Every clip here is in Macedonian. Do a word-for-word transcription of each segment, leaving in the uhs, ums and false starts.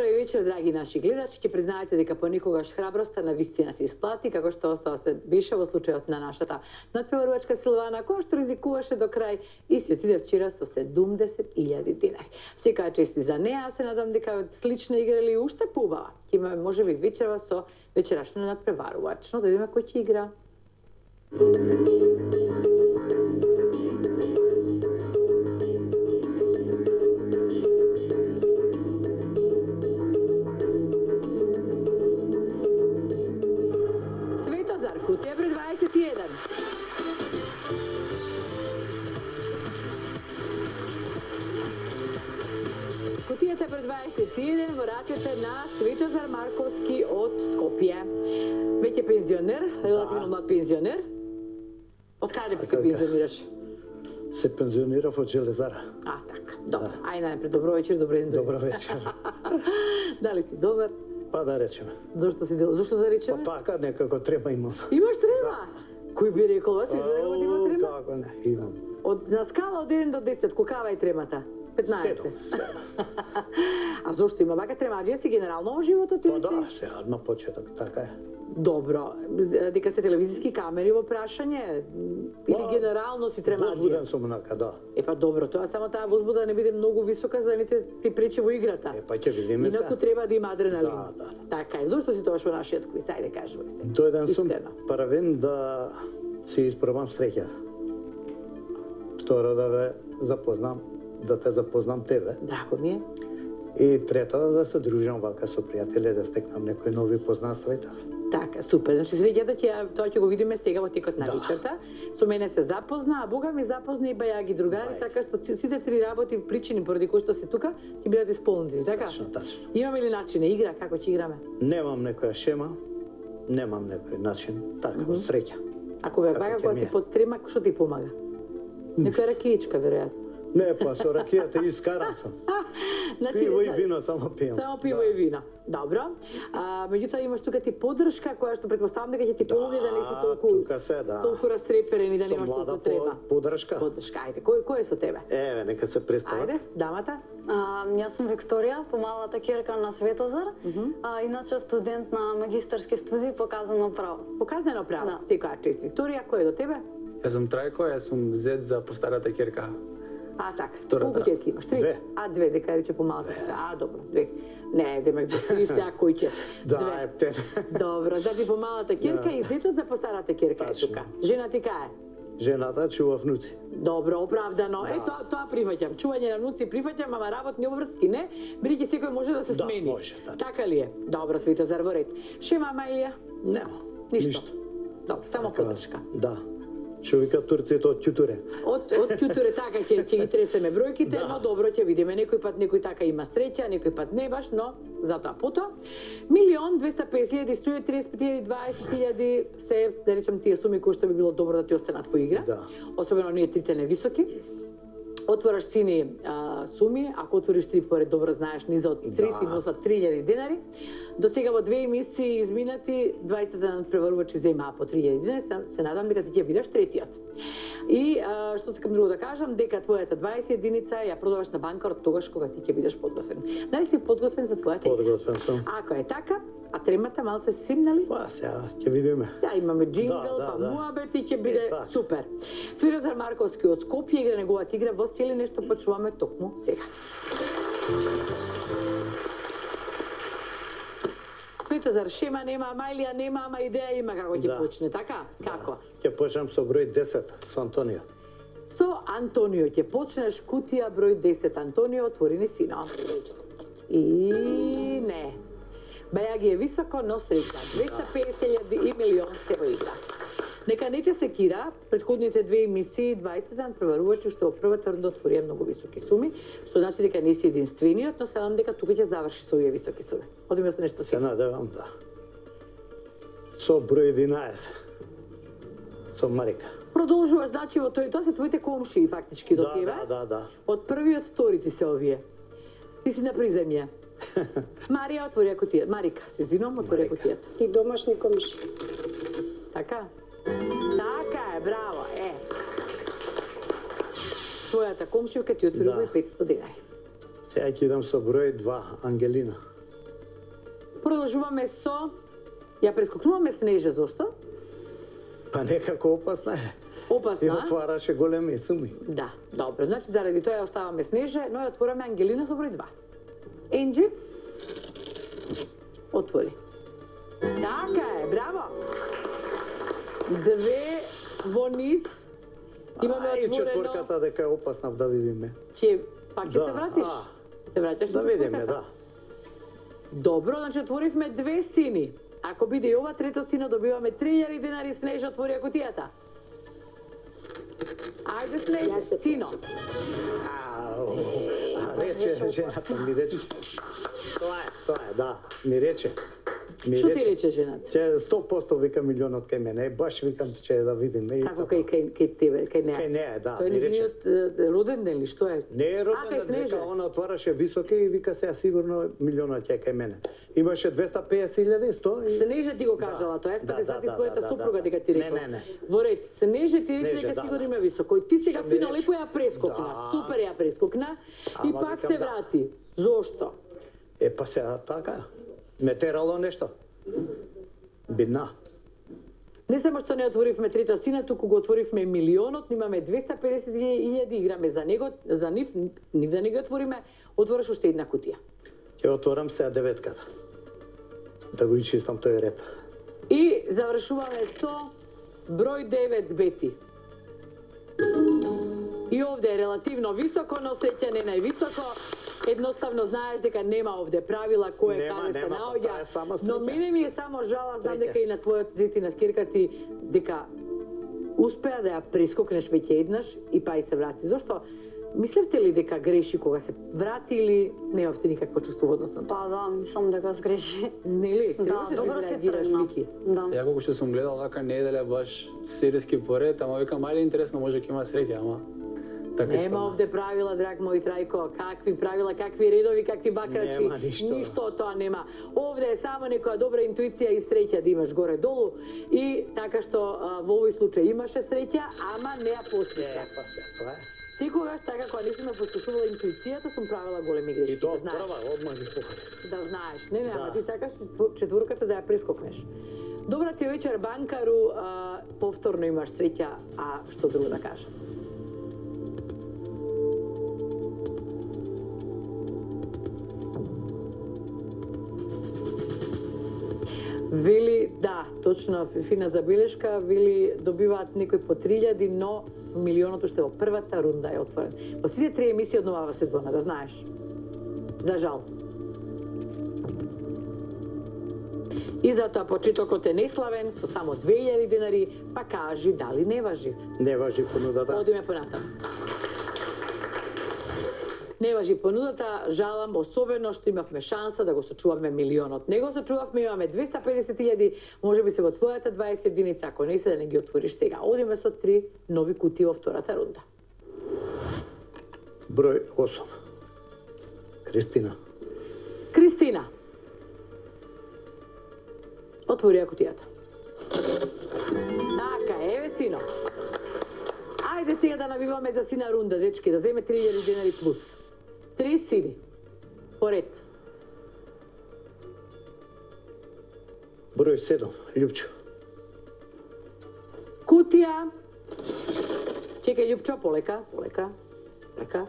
Добро вечер, драги наши гледачи. Ќе признаете дека понекогаш храброста на вистина се исплати, како што остава се беше во случајот на нашата надпреварувачка Силвана, која што ризикуваше до крај и си отиде вчера со седумдесет илјади динари. Секоја чести за неа, се надам дека слична игра или уште поубава. Ќе имаме можеби вечерва со вечерашна надпреварувач. Но да видиме кој ќе игра. Кутија број дваесет и еден. Кутијата број дваесет и еден во рацете на Светозар Марковски од Скопје. Веќе пензионер, релативно млад пензионер. Од каде би се пензионираш? Се пензионирав од Железара. А, така. Добро. Ајде најпред, добро вечер, добро ден. Добро вечер. Дали си добар? Па да речеме. Зошто си дел? Зошто да речеме? Па така, некако трема имам. Имаш трема? Кој би рекол, вас изгледа дека има трема? Како не, имам. Од на скала од еден до десет, колкава е тремата? петнаесет. А зошто има вака тремаџија си генерално во животот или си? Па да, си? сега на почеток, така е. Добро, дека се телевизиски камери во прашање или генерално си тремаџија? Возбуден сум онака, да. Е па добро, тоа само таа возбуда не биде многу висока за да не ти пречи во играта. Е па ќе видиме се. Инаку треба да има адреналин. Да, да. Така е. Зошто си тоа во нашиот квиз? Ајде кажувај се. Дојден сум првен да си испробам среќа. Второ да ве запознам, да те запознам тебе. Драго ми е. И трето да се дружам вака со пријатели, да стекнам некои нови познанства и така. Така, супер. Значи, среќата ќе тоа ќе го видиме сега во текот на вечерта. Со мене се запозна, а Бога ми запозна и бајаги другари, така што сите три работи, причини поради кои што си тука, ќе бидат исполнети, така? Точно, точно. Имаме ли начин игра, како ќе играме? Немам некоја шема, немам некој начин, така, од среќа. А кога е вака, кога си под трема, што ти помага? Некоја ракијичка, веројатно. Не, па со ракијата искаран сум. Значи, пиво и вино само пијам. Само пиво да. И вино. Добро. А, меѓутоа имаш тука ти поддршка која што претпоставам дека ќе ти помогне да, да не си толку тука се, да. толку растреперен и да немаш толку трема. Поддршка. Поддршка. Ајде, кој кој е со тебе? Еве, нека се представат. Ајде, дамата. А, јас сум Викторија, помалата ќерка на Светозар. Uh -huh. а, иначе студент на магистарски студии по казнено право. По казнено право. Да. Секоја чест. Викторија, кој е до тебе? Јас сум Трајко, јас сум зет за постарата ќерка. А, така. Колку ќерки имаш? Три? Две. А, две, дека рече помалата. А, добро, две. Не, демек до три сега кој ќе? Да, ептен. Добро, значи помалата ќерка и зетот за постарата ќерка е тука. Жена ти кај е? Жената чува внуци. Добро, оправдано. Е, тоа тоа прифаќам. Чување на внуци прифаќам, ама работни обврски не, бидејќи секој може да се смени. Да, може, да. Така ли е? Добро, Светозар, во ред. Шема, Мајлија? Нема. Ништо. Добро, само поддршка. Да. Што вика турците од ќутуре. Од од ќутуре така ќе ќе ги тресеме бројките, да. Но добро ќе видиме. Некој пат некој така има среќа, некој пат не баш, но затоа потоа. Милион двеста песет илјади, сто и триесет илјади, дваесет илјади се, да речем, тие суми кои што би било добро да ти останат во игра. Да. Особено оние трите невисоки. Отвораш сини а, суми, ако отвориш три поред, добро знаеш, низа од три ти носат три илјади денари. До сега во две емисии изминати, двајцата надпреварувачи земаа по три илјади денари, се, се надам дека ти ќе бидеш третиот. И а, што сакам друго да кажам, дека твојата дваесет единица ја продаваш на банкар од тогаш кога ти ќе бидеш подготвен. Дали си подготвен за твојата? Подготвен сум. Ако е така, а тремата малце се симнали? Па, сега ќе видиме. Сега имаме джингл, да, да, па да. муабет и ќе биде е, супер. Светозар Марковски од Скопје игра неговата игра во сили, нешто почуваме токму сега. Светозар, шема нема, Мајлија нема, ама идеја има како ќе да. Почне, така? Како? Ќе почнам со број десет, со Антонио. Со Антонио ќе почнеш кутија број десет. Антонио, отвори ни сино. И не. Бајаги е високо, но среќа. двеста песет илјади и милион се во игра. Нека не те секира, претходните две емисии, дваесет надпреварувачи што во првата рунда отворија многу високи суми, што значи дека не си единствениот, но се надам дека тука ќе заврши со овие високи суми. Одиме со нешто се надевам, да. Со број единаесет. Со Марика. Продолжуваш, значи во тој, тоа се твоите комшии фактички до да, тебе. Да, да, да. Од првиот втори ти се овие. Ти си на приземје. Марија отвори кутијата. Марика, се извинувам, отвори кутијата. И домашни комши. Така? Така е, браво, е. Твојата комшијка ти отвори да. петстотини денари. Сега ќе идам со број два, Ангелина. Продолжуваме со... Ја прескокнуваме Снежа, зошто? Па некако опасна е. И Опасна. отвараше големи суми. Да, добро. Значи, заради тоа ја оставаме Снежа, но ја отвораме Ангелина со број два. Енджи? Отвори. Така е, браво! Две во низ. Имаме А, и отворено... четворката дека е опасна да видиме. Ќе пак ќе Да, се вратиш? а. Се враќаш Да на видиме, четворката? да. Добро, значи отворивме две сини. Ако биде и ова трето сино, добиваме три илјади денари. Снежа, отвори ја кутијата. Ајде, Снежа, сино. Ау, а рече, жената ми рече. Тоа е, тоа е, да, ми рече. Ми Што ти рече жената? Че сто проценти вика милионот кај мене, баш викам че да видиме. и Како така. кај, кај, кај тебе, кај неа? Кај неа, да, Тој ми рече. низиниот е, роден ден ли, што е? Не е А, кај роден, Снежа? дека она отвараше високи и вика сега сигурно милионот ќе е кај мене. Имаше двеста песет илјади, сто и... Снежа ти го кажала тоа, Да, па да, те свати да, твојата да, да, супруга да. дека ти Не, рекла. не, не. Во ред, Снежа ти рече Снежа, дека да, сигурно да. има високо. И ти сега Што ми фино рече? лепо ја прескокна, Да. супер ја прескокна и Ама пак викам се да. врати. Зошто? Е, па сега така, ме терало нешто. Бидна. Не само што не отворивме трета сина, туку го отворивме милионот, но имаме двеста педесет илјади, играме за него, за нив, нив да не го отвориме, отвораш уште една кутија. Ќе отворам сега деветката. Да го изчистам тој ред. И завршуваме со број девет Бети. И овде е релативно високо, но среќа не највисоко. Едноставно знаеш дека нема овде правила кој е Нема, каде се нема, па тоа е само наоѓа. Но среќа. мене ми е само жала, знам Среќа. дека и на твојот зет и на скирка ти дека успеа да ја прескокнеш веќе еднаш и па и се врати. Зошто? Мислевте ли дека греши кога се врати или немавте никакво чувство во однос на тоа? Па да, мислам дека сгреши. Нели? Да, Требаше да добро си изреагираш, тргна. Вики. Да. Ја колку што сум гледал вака неделја баш серијски поред, ама викам ајде интересно може ќе има среќа, ама така Нема испадна. овде правила, драг мој Трајко, какви правила, какви редови, какви бакрачи. Нема ништо. Ништо од тоа нема. Овде е само некоја добра интуиција и среќа да имаш горе-долу и така што а, во овој случај имаше среќа, ама не ја Е, послуша. па сега, тоа е. Секогаш така кога не сум ја послушувала интуицијата, сум правила големи грешки, И тоа да знаеш. прва, одмah ги покажа. Да знаеш. Не, не, ама Да. ти сакаш четвор- четворката да ја прескокнеш. Добра ти вечер, банкару, а, повторно имаш среќа, а што друго да кажам? Вели, да, точно, фина забелешка, вели добиваат некои по три илјади, но милионот уште во првата рунда е отворен. Во сите три емисии од новава сезона, да знаеш. За жал. И затоа почетокот е неславен, со само две илјади денари, па кажи дали не важи. Не важи понудата. Одиме понатаму. Не важи понудата, жалам, особено што имавме шанса да го сочуваме милионот. Не го сочувавме, имаме двеста педесет илјади, може би се во твојата дваесет единица, ако не се да не ги отвориш сега. Одиме со три нови кутии во втората рунда. Број осум. Кристина. Кристина. Отвори ја кутијата. Така, еве сино. Ајде сега да навиваме за сина рунда, дечки, да земе три илјади денари плюс. Три сини. Поред. Број седум. Лјупчо. Кутија. Чекај, Љупчо, полека, полека, полека.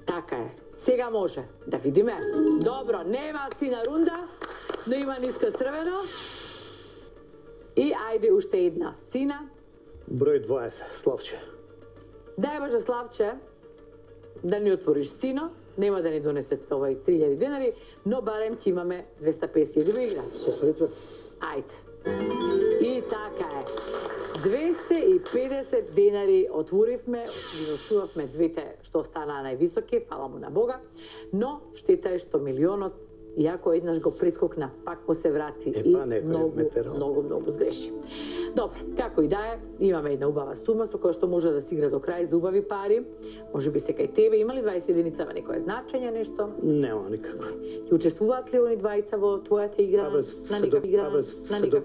Така е. Сега може. Да видиме. Добро, нема сина рунда, но има ниско црвено. И ајде уште една сина. Број дваесет. Славче. Дај Боже Славче, да ни отвориш сино, нема да ни донесет овај три илјади денари, но барем ќе имаме двеста песет илјади во игра. Со среќа. Ајде. И така е. двеста и педесет денари отворивме, ги очувавме двете што останаа највисоки, фала му на Бога, но штета е што милионот, иако еднаш го прескокна, пак му се врати Е, и па, некој многу, ме терал. многу, многу сгреши. Добро, како и да е, имаме една убава сума со која што може да се игра до крај за убави пари. Може би се кај тебе, има ли дваесет единица во некое значење нешто? Нема никакво. Ќе учествуваат ли они двајца во твојата игра? Абе, на се некаква до- игра? абе, на се некаква